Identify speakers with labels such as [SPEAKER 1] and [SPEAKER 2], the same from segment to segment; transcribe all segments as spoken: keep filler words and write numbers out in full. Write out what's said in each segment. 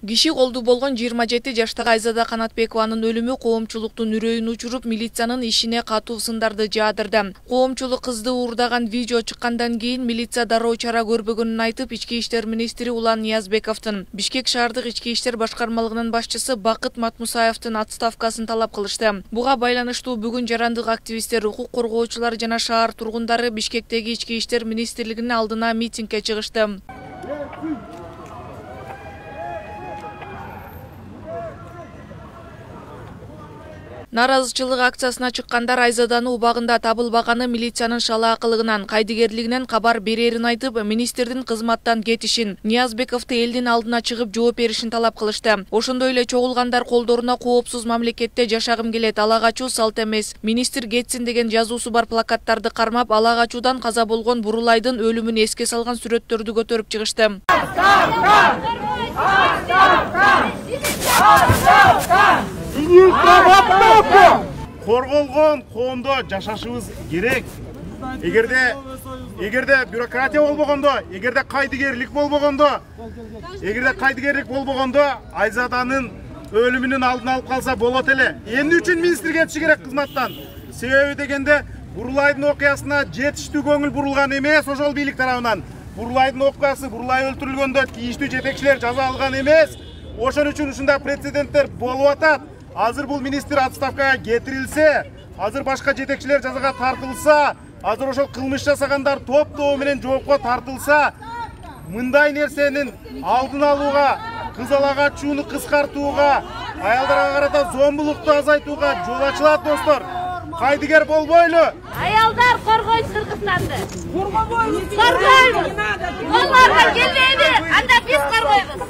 [SPEAKER 1] Киши колду болгон жыйырма жети жаштагы Айзада Канатбекованын өлүмү коомчулуктун үрөйүн учуруп, милициянын ишине катуу сындарды жаадырды. Коомчулук кызды уурдаган видео чыккандан кийин милиция дароо чара көрбөгөнүн айтып, Ички иштер министри Улан Ниязбековдун, Бишкек шаардык ички иштер башкармалыгынын башчысы Бакыт Матмусаевдин отставкасын талап кылышты. Буга байланыштуу бүгүн жарандык активисттер, укук коргоочулар жана шаар тургундары Бишкектеги ички иштер министрлигинин алдына митингге чыгышты. Наразычылык акциясына чыккандар Айзаданы убагында табылбаганы милициянын шалаакылыгынан, кайдыгерлигинен кабар берерин айтып, министрдин кызматтан кетишин, Ниязбековду элдин алдына чыгып жооп беришин талап кылышты. Ошондой эле чогулгандар колдоруна коопсуз мамлекетте жашагым келет, ала качуу салт эмес, министр кетсин деген жазуусу бар плакаттарды кармап, ала качуудан каза болгон Бурулайдын өлүмүн эске салган сүрөттөрдү көтөрүп чыгышты.
[SPEAKER 2] Корголгон коомдо жашашыбыз керек. Эгерде эгерде бюрократия болбогондо, эгерде кайдыгерлик болбогондо, эгерде кайдыгерлик болбогондо Айзаданын өлүмүнүн алдын алып калса болот эле. Эмне үчүн министр кетиши керек кызматтан? Себеби дегенде Бурулайдын окуясына жетиштүү көңүл бурулган эмес ошол бийлик тарабынан. Бурулайдын окуясы, Бурулай өлтүрүлгөндө тийиштүү жетекчилер жаза алган эмес. Ошон үчүн ушундай прецеденттер болуп атат. Азыр бул министр отставкага кетирилсе, азыр башка жетекчилер жазага тартылса, азыр ошол кылмыш жасагандар топ-тобу менен жоопко тартылса, мындай нерсенин алдын алууга, кыз ала качууну кыскартууга, аялдарга карата зомбулукту азайтууга жол ачылат, достор. Кайдыгер болбойлу.
[SPEAKER 3] Аялдар коргойт Кыргызстанды. Коргойбуз. Коргойбуз. Оларга келбейби? Анда биз коргойбуз.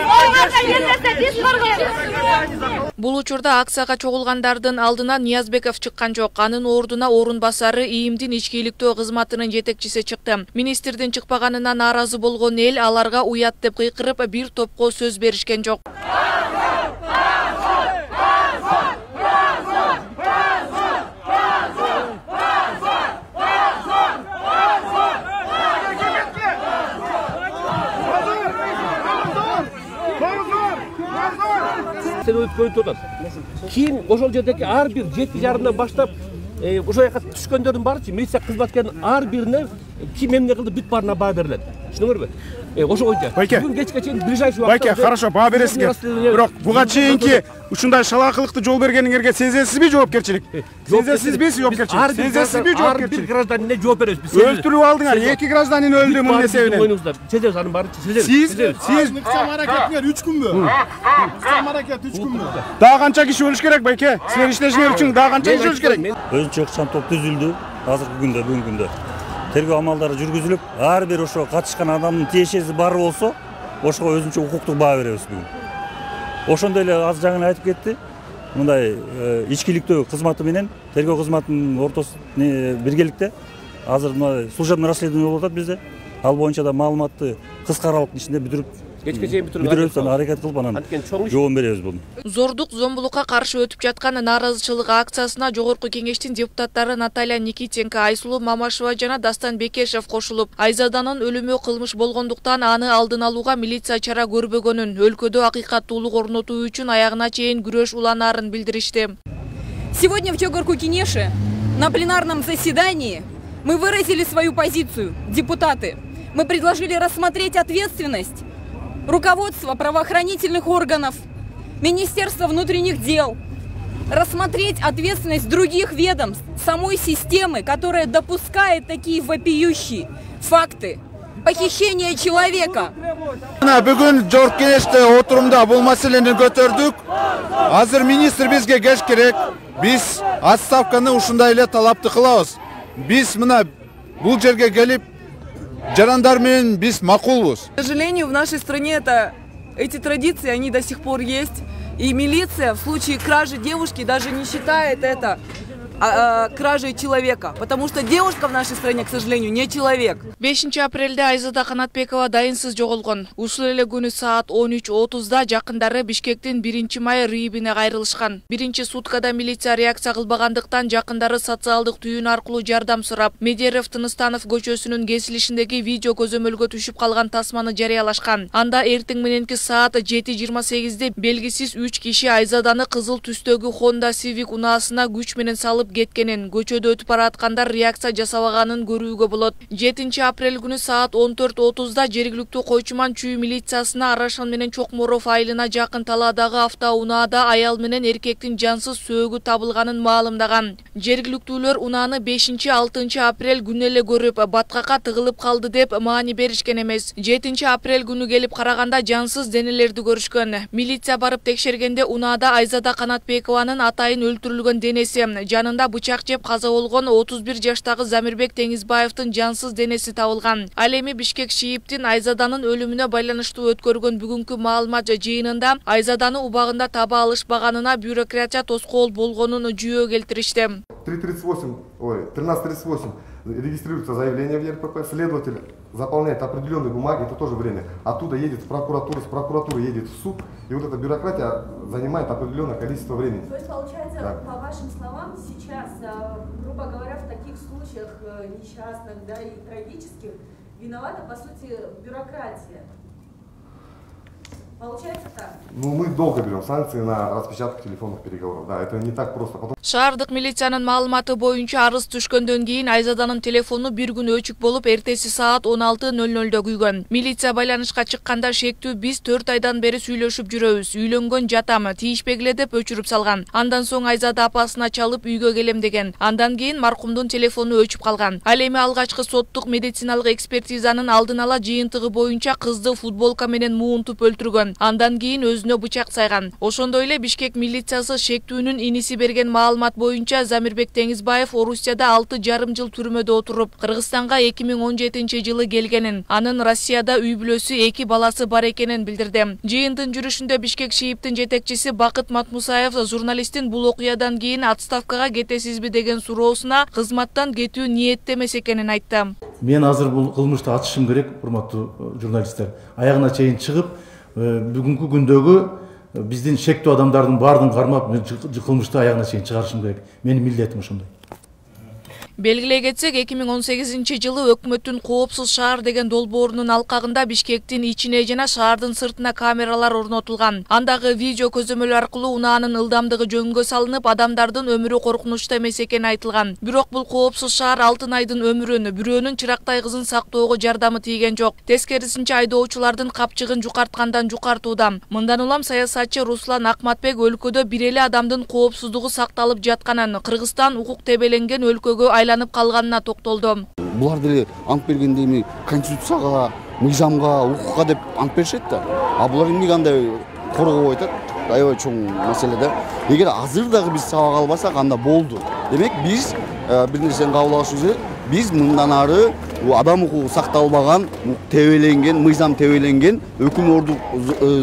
[SPEAKER 3] Оларга келбесе биз коргойбуз.
[SPEAKER 1] Бул учурда акцияга чогулгандардын алдына Ниязбеков чыккан жок. Анын ордуна орун басары ИИМдин ички иликтөө кызматынын жетекчиси чыкты. Министрдин чыкпаганына нааразы болгон эл аларга уят деп кыйкырып, бир топко сөз беришкен жок.
[SPEAKER 4] Кийин ошол жердеги ар бир жети жарымдан баштап ошол жака түшкөндөрдүн баары милиция кызматкеринин ар бирине ким эмне кылды бүт баарына баа берилет. Түшүнүңөрбү? Ошо боюнча бүгүн кечке чейин ближайший убакытта
[SPEAKER 2] Байке, хорошо, баа бересиңер. Бирок буга чейинки ушундай шалаакылыкты жол бергениңерге сезесизби жоопкерчилик? Сезесизби жоопкерчилик? Сезесизби жоопкерчилик?
[SPEAKER 4] Ар бир гражданине жооп беребиз биз.
[SPEAKER 2] Өлтүрүп алдыңар, эки гражданин өлдү мунун эсебинен.
[SPEAKER 4] Сезебиз анын баарын, сезебиз.
[SPEAKER 2] Сиз, сиз
[SPEAKER 5] ыкчам аракетиңер үч күнбү? Ыкчам аракет үч күнбү?
[SPEAKER 2] Дагы канча киши өлүш керек, Байке? Силер иштешиңер үчүн дагы канча киши өлүш керек?
[SPEAKER 6] Өзүнчө ыкчам топ түзүлдү азыркы күндө, бүгүнкү күндө. Тергөө амалдары жүргүзүлүп, ар бир ошо катышкан адамдын тиешеси бар болсо, ошого өзүнчө укуктук баа беребиз бүгүн. Ошондой эле азыр жаңы айтып кетти. Мындай ички иликтөө кызматы менен тергөө кызматынын ортосунда биргеликте азыр мына служебный расследование болуп атат bizde. Ал боюнча да маалыматты кыска аралыктын ичинде бүтүрүп
[SPEAKER 4] кечке чейин
[SPEAKER 6] бүтүрөбүз, аракет кылып анан жоон беребиз буну.
[SPEAKER 1] Зордук, зомбулукка каршы өтүп жаткан нааразычылык акциясына Жогорку кеңештин депутаттары Наталья Никитенко, Айсулуу Мамашева жана Дастан Бекешев кошулуп, Айзаданын өлүмү кылмыш болгондуктан аны алдын алууга милиция чара көрбөгөнүн, өлкөдө акыйкаттуулук орнотуу үчүн аягына чейин күрөш уланаарын билдиришти.
[SPEAKER 7] Сегодня в Жогорку Кеңеше на пленарном заседании мы выразили свою позицию, депутаты. Мы предложили рассмотреть ответственность руководства правоохранительных органов, Министерства внутренних дел, рассмотреть ответственность других ведомств, самой системы, которая допускает такие вопиющие факты похищения человека.
[SPEAKER 5] Бүгүн Жогорку Кеңеште отурумда бул маселени көтөрдүк. Азыр министр бизге кеш керек. Биз отставканы ушундай эле талапты кылабыз. Биз мына бул жерге келип жарандар менен биз макулбуз.
[SPEAKER 8] К сожалению, в нашей стране это, эти традиции, они до сих пор есть. И милиция в случае кражи девушки даже не считает это а, а, кражей человека, потому что девушка в нашей стране, к сожалению, не человек.
[SPEAKER 1] бешинчи апрелде Айзада Канатбекова дайынсыз жоголгон. Ушул эле күнү саат он үч отузда жакындары Бишкектин биринчи май рыйбине кайрылышкан. Биринчи суткада милиция реакция кылбагандыктан жакындары социалдык түйүн аркылуу жардам сурап, Медерев Тыныстанов көчөсүнүн кесилишиндеги видео көзөмөлгө түшүп калган тасманы жарыялашкан. Анда эртең мененки саат жети жыйырма сегизде белгисиз үч киши Айзаданы кызыл түстөгү Honda Civic унаасына күч менен салып кеткенин, көчөдө өтүп бараткандар реакция жасабаганын көрүүгө болот. жетинчи апрель күнү саат он төрт отузда жергиликтүү Койчуман чүй милициясына Арашан менен Чокморов айылына жакын талаадагы автоунаада аял менен эркектин жансыз сөөгү табылганын маалымдаган. Жергиликтүүлөр унааны бешинчи алтынчы апрель күнү эле көрүп, баткакка тыгылып калды деп маани беришкен эмес. жетинчи апрель күнү келип караганда жансыз денелерди көрүшкөн. Милиция барып текшергенде унаада Айзада Канатбекованын атайын өлтүрүлгөн денеси, жанында бычак жеп каза болгон отуз бир жаштагы Замирбек Теңизбаевдин жансыз денеси табылган. Ал эми Бишкек ШИИБтин Айзаданын өлүмүнө байланыштуу өткөргөн бүгүнкү маалымат жыйынында Айзаданы убагында таба алышпаганына бюрократия тоскоол болгонун жүйө келтиришти.
[SPEAKER 9] три тридцать восемь, ой, тринадцать тридцать восемь регистрируется заявление в ЕРПП, следователь заполняет определенные бумаги, это тоже время. Оттуда едет в прокуратуру, с прокуратуры едет в суд, и вот эта бюрократия занимает определенное количество времени.
[SPEAKER 10] То есть, получается, да. По вашим словам, сейчас, грубо говоря, в таких случаях несчастных, да, и трагических, виновата, по сути, бюрократия. Получается так?
[SPEAKER 9] Ну, мы долго берем санкции на распечатку телефонных переговоров. Да, это не так просто. Потом...
[SPEAKER 1] Шаардык милициянын маалыматы боюнча арыз түшкөндөн кийин Айзаданын телефону бир күн өчүк болуп, эртеси саат он алты ноль нольдо күйгөн. Милиция байланышка чыкканда шектүү биз төрт айдан бери сүйлөшүп жүрөбүз. Үйлөнгөн жатам, тийишпегиле деп өчүрүп салган. Андан соң Айзада апасына чалып үйгө келем деген. Андан кийин маркумдун телефону өчүп калган. Ал эми алгачкы соттук медициналык экспертизанын алдын ала жыйынтыгы боюнча кызды футболка менен муунтуп өлтүргөн. Андан кийин өзүнө бычак сайган. Ошондой эле Бишкек милициясы шектүүнүн иниси берген маалымат боюнча Замирбек Теңизбаев Орусияда алты жарым жыл түрмөдө отуруп, Кыргызстанга эки миң он жетинчи жылы келгенин, анын Россияда үй бүлөсү, эки баласы бар экенин билдирди. Жыйындын жүрүшүндө Бишкек ШИИБтин жетекчиси Бакыт Матмусаев журналисттин бул окуядан кийин отставкага кетесизби деген суроосуна кызматтан кетүү ниетте эмес экенин айтты.
[SPEAKER 11] Мен азыр бул кылмышты ачышым керек, урматтуу журналисттер. Аягына чейин чыгып, бүгүнкү күндөгү биздин шектүү адамдардын баардыгын кармап, кылмышты аягына чейин чыгарышым керек. Менин милдетим ошондой.
[SPEAKER 1] Белгилей кетсек, эки миң он сегизинчи жылы өкмөттүн коопсуз шаар деген долбоорунун алкагында Бишкектин ичине жана шаардын сыртына камералар орнотулган. Андагы видео көзөмөл аркылуу унаанын ылдамдыгы жөнгө салынып, адамдардын өмүрү коркунучта эмес экени айтылган. Бирок бул коопсуз шаар алтын айдын өмүрүн, бирөөнүн чырактай кызын сактоого жардамы тийген жок. Тескерисинче айдоочулардын капчыгын жукарткандан жукартууда. Мындан улам саясатчы Руслан Акматбек өлкөдө бир эле адамдын коопсуздугу сакталып жатканын, Кыргызстан укук тебеленген өлкөгө айланып калганына токтолду.
[SPEAKER 12] Булар деле ант бергенде эми конституцияга, мыйзамга, укукка деп ант беришет да. А булар эмне кандай коргоп атат? Аябай чоң маселе да. Эгер азыр дагы биз сабак албасак, анда болду. Демек биз бир нерсени кабыл алышыбыз керек. Биз мындан ары адам укугу сакталбаган, тебеленген, мыйзам тебеленген, өкүм ордук,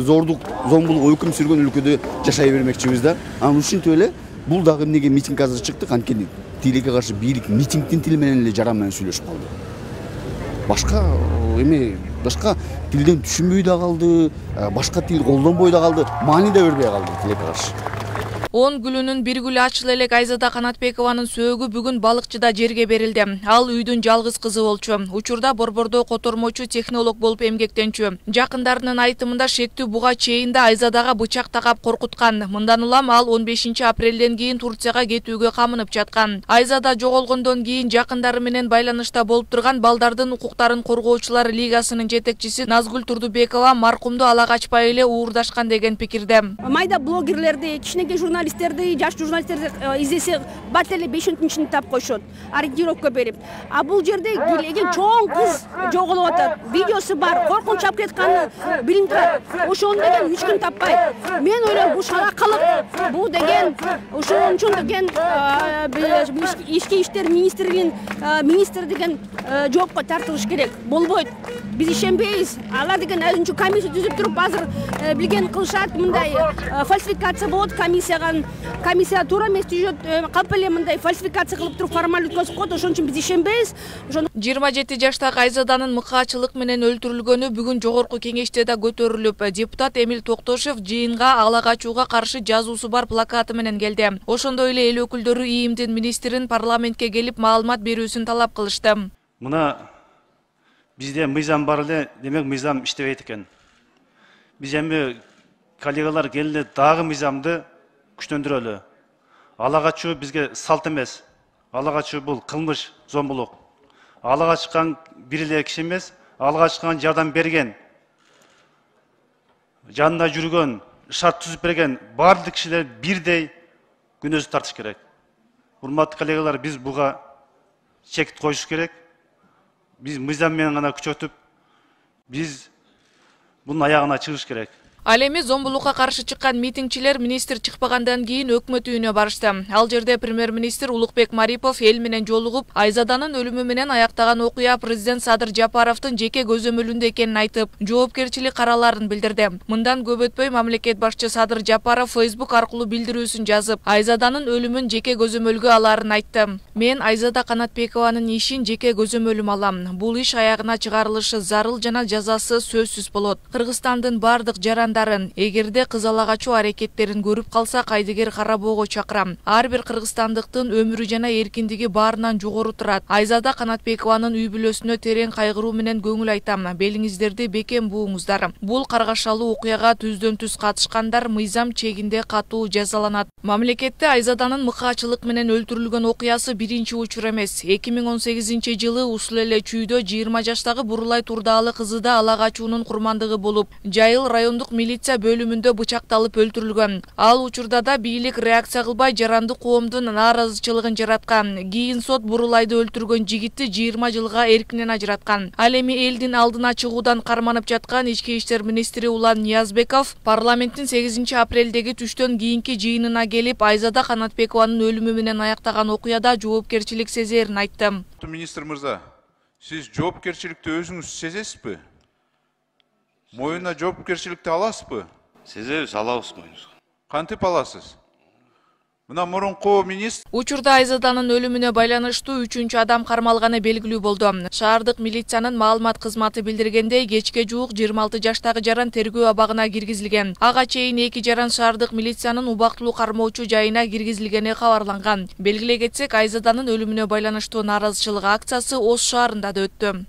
[SPEAKER 12] зордук, зомбулук өкүм сүргөн өлкөдө жашай бермекчибиз да. Анан ушинтип эле бул дагы эмнеге митинг азыр чыктык, анткени тилекке каршы бийлик митингдин тили менен эле жаран менен сүйлөшүп калды. Башка эме, башка тилден түшүнбөй да калды, башка тил колдонбой да калды, маани да бербей калды тилекке каршы.
[SPEAKER 1] он гүлүнүн бир гүлү ачыла элек Айзада Канатбекованын сөөгү бүгүн балыкчыда жерге берилди. Ал үйдүн жалгыз кызы болчу. Учурда Борбордо котормочу технолог болуп эмгектенчү. Жакындарынын айтымында шектүү буга чейин да Айзадага бычак такап коркуткан. Мындан улам ал он бешинчи апрелден кийин Турцияга кетүүгө камынып жаткан. Айзада жоголгондон кийин жакындары менен байланышта болуп турган Балдардын укуктарын коргоочулар лигасынын жетекчиси Назгүл Турдубекова маркумду ала качпай эле уурдашкан деген пикирде.
[SPEAKER 13] Майда блогерлерди, кичинекей журналисттерди, жаш журналисттерди издесе бат эле беш он күнчүн тап койшот, ориентировка берип. А бул жерде килеген чоң кыз жоголуп атат. Видеосу бар, коркунуч алып кетканы билинип турат. Ошону деген үч күн таппайт. Мен ойлойм, бул шаракалык, бул деген ошон үчүн деген ички иштер министринин министри деген жоопко тартылыш керек. Болбойт. Биз ишенбейбиз. Алар деген өзүнчө комиссия түзүп туруп азыр билген кылышат, мындай фальсификация болот, комиссияга анан комиссия туура эмес түзөт, калп эле мындай фальсификация кылып туруп формаль өткөзүп коет, ошон үчүн биз ишенбейбиз.
[SPEAKER 1] жыйырма жети жаштагы Айзаданын мыкаачылык менен өлтүрүлгөнү бүгүн жогорку кеңеште да көтөрүлүп, депутат Эмил Токтошев жыйынга ала качууга каршы жазуусу бар плакаты менен келди. Ошондой эле эл өкүлдөрү ИИМдин министрин парламентке келип маалымат берүүсүн талап кылышты.
[SPEAKER 14] Мына бизде мыйзам бар эле, демек мыйзам иштебейт экен. Биз эми коллегалар келди дагы мыйзамды күчтөндүрөлү. Ала качуу бизге салт эмес. Ала качуу бул кылмыш, зомбулук. Ала качкан бир эле киши эмес, ала качкан жардам берген, жанында жүргөн, шарт түзүп берген бардык кишилер бирдей күнөөсүн тартыш керек. Урматтуу коллегалар, биз буга чек коюш керек. Биз мыйзам менен гана күчөтүп, биз бунун аягына чыгыш керек.
[SPEAKER 1] Ал эми зомбулукка каршы чыккан митингчилер министр чыкпагандан кийин өкмөт үйүнө барышты. Ал жерде премьер-министр Улукбек Марипов эл менен жолугуп, Айзаданын өлүмү менен аяктаган окуя президент Садыр Жапаровдун жеке көзөмөлүндө экенин айтып, жоопкерчилик караларын билдирди. Мындан көп өтпөй мамлекет башчы Садыр Жапаров Facebook аркылуу билдирүүсүн жазып, Айзаданын өлүмүн жеке көзөмөлгө аларын айтты. Мен Айзада Канатбекованын ишин жеке көзөмөлүм алам. Бул иш аягына чыгарылышы зарыл жана жазасы сөзсүз болот. Кыргызстандын бардык жарандарын, эгерде кыз ала качуу аракеттерин көрүп калса, кайдыгер карабоого чакырам. Ар бир кыргызстандыктын өмүрү жана эркиндиги баарынан жогору турат. Айзада Канатбекованын үй бүлөсүнө терең кайгыруу менен көңүл айтам. Белиңиздерди бекем бууңуздар. Бул каргашалуу окуяга түздөн түз катышкандар мыйзам чегинде катуу жазаланат. Мамлекетте Айзаданын мыкаачылык менен өлтүрүлгөн окуясы биринчи учур эмес. эки миң он сегизинчи жылы ушул эле чүйдө жыйырма жаштагы Бурулай Турдаалы кызы да ала качуунун курмандыгы болуп, Жайыл райондук милиция бөлүмүндө бычакталып өлтүрүлгөн. Ал учурда да бийлик реакция кылбай жаранды коомдун нааразычылыгын жараткан. Кийин сот Бурулайды өлтүргөн жигитти жыйырма жылга эркинен ажыраткан. Ал эми элдин алдына чыгуудан карманып жаткан ички иштер министри Улан Ниязбеков парламенттин сегизинчи апрелдеги түштөн кийинки жыйынына келип, Айзада Канатбекованын өлүмү менен аяктаган окуяда жоопкерчилик сезерин айтты.
[SPEAKER 15] Министр мырза, сиз жоопкерчиликти өзүңүз сезесизби? Моюна жоопкерчиликти аласызбы?
[SPEAKER 16] Сезебиз, алабыз моюнубузга.
[SPEAKER 15] Кантип аласыз? Мына мурунку министр
[SPEAKER 1] учурда Айзаданын өлүмүнө байланыштуу үчүнчү адам кармалганы белгилүү болду. Шаардык милициянын маалымат кызматы билдиргендей, кечке жуук жыйырма алты жаштагы жаран тергөө абагына киргизилген. Ага чейин эки жаран шаардык милициянын убактылуу кармоочу жайына киргизилгени кабарланган. Белгилей кетсек, Айзаданын өлүмүнө байланыштуу нааразычылык акциясы Ош шаарында да өттү.